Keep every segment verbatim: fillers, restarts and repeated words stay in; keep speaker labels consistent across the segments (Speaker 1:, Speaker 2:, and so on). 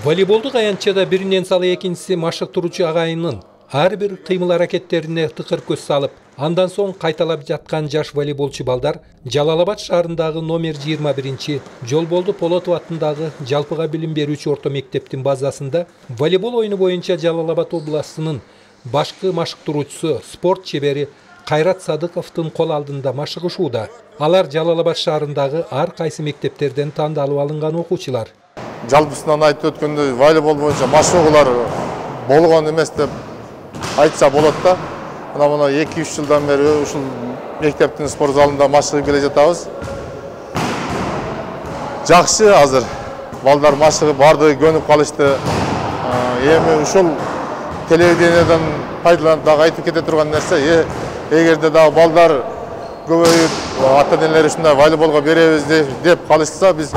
Speaker 1: Волейболдук аянтчада биринен салы экинчиси машыктыруучу агайынын ар бир кыймыл-аракеттерине тыкыр көз салып, андан соң кайталап жаткан жаш волейболчу балдар Жалал-Абад шаарындагы номер жыйырма биринчи Жолболду Полотов атындагы жалпыга билим берүүчү орто мектептин базасында волейбол оюну боюнча Жалал-Абад областынын башкы машыктыруучусу, спорт чебери Кайрат Садыковдун кол алдында машыгышууда. Алар Жалал-Абад шаарындагы ар кайсы мектептерден тандалып алынган окуучулар.
Speaker 2: Жалпысынан айтып өткөндөй волейбол боюнча машыгуулар болгон эмес деп айтса болот да. Мына мына эки үч жылдан бери ушул мектептин спорт залында машыгып келе жатабыз. Жакшы азыр. Балдар машыгып бардыгы көнүп калышты. Эми ушул телевидениеден пайдаланып дагы айтып кете турган нерсе, эгерде дагы балдар көбөйүп, ата-энелер ушундай волейболго беребиз деп калышса, биз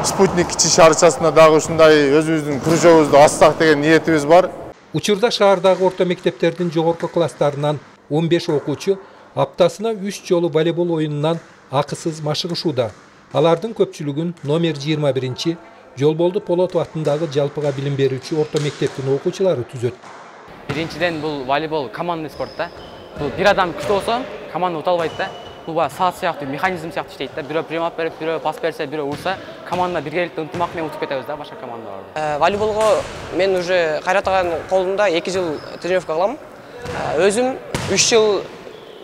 Speaker 2: Спутник кичи шаарчасына дагы ушундай өзүбүздүн кружогубузду ачсак деген ниетибиз бар.
Speaker 1: Учурда шаардагы орто мектептердин жогорку класстарынан он беш окуучу аптасына үч жолу волейбол оюнунан акысыз машыгышууда. Алардын көпчүлүгүн номер жыйырма биринчи Жолболду Полотов атындагы жалпыга билим берүүчү орто мектептин окуучулары түзөт.
Speaker 3: Биринчиден бул волейбол командный спорт да. Бул бир адам күчтүү болсо, команда ута албайт да. Бул саат сыяктуу механизм сыяктуу иштейт да. Бирөө примат берип, бирөө пас берсе, бирөө урса, команда биргеликтүү ынтымак менен утуп кетебиз да башка командаларды.
Speaker 4: Волейболго мен уже Кайрат агайдын колунда эки жыл тренировка кылам. Өзүм үч жыл,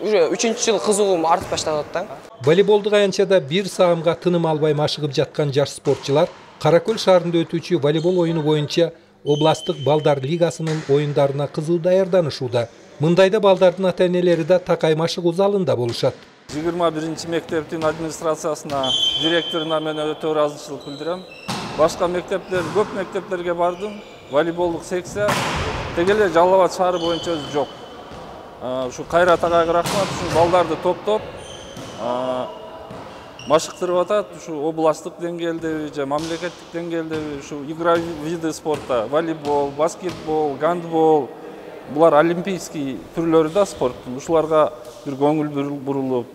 Speaker 4: уже үчүнчү жыл кызыгуум артып баштап атат да.
Speaker 1: Волейболдук аянтчада бир саамга тыным албай машыгып жаткан жаш спортчулар Кара Көл шаарында өтүүчү волейбол оюну боюнча областтык балдар лигасынын оюндарына кызуу даярданышууда. Мындайда балдардын ата-энелери да такай машыгуу залында болушат.
Speaker 5: жыйырма биринчи мектептин администрациясына, директоруна мен өтө ыраазычылык билдирем. Башка мектептер, көп мектептерге бардым. Волейболдук секция теге эле Жалал-Абад шаары боюнча өзү жок. Ушу Кайрат агайга рахмат, ушу балдарды топтоп машыктырып атат. Ушу областтык деңгээлдеби же мамлекеттик деңгээлдеби ушу игра виды спорта, волейбол, баскетбол, гандбол, булар олимпийский түрлөрү да спорттун. Ушуларга бир көңүл бурулуп,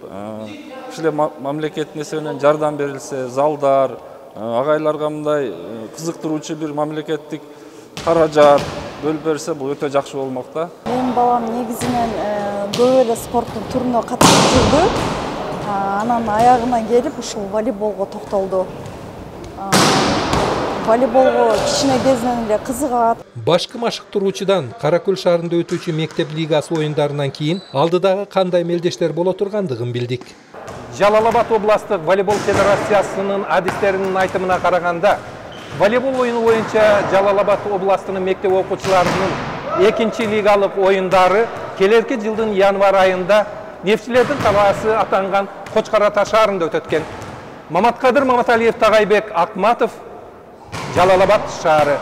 Speaker 5: ушул мамлекеттин эсебинен жардам берилсе, залдар, агайларга мындай кызыктыруучу бир мамлекеттик каражат бөлүп берсе, бул өтө жакшы болмок да.
Speaker 6: Менин балам негизинен көп эле спорттун түрүнө катышып жүрдү. Анан аягына келип ушул волейболго токтолду. Волейболго кичине кезинен эле кызыгат.
Speaker 1: Башкы машыктыруучудан Кара Көл шаарында өтүүчү мектеп лигасы оюндарынан кийин алдыдагы кандай мелдештер боло тургандыгын билдик. Жалал-Абад областтык волейбол федерациясынын адистеринин айтымына караганда, волейбол оюну боюнча Жалал-Абад областынын мектеп окуучуларынын экинчи лигалык оюндары келерки жылдын январь айында Нефтчилердин талаасы атанган Кочкор Ата шаарында өтөткөн. Маматкадыр Маматалиев, Тагайбек Акматов, Жалал-Абад шаары.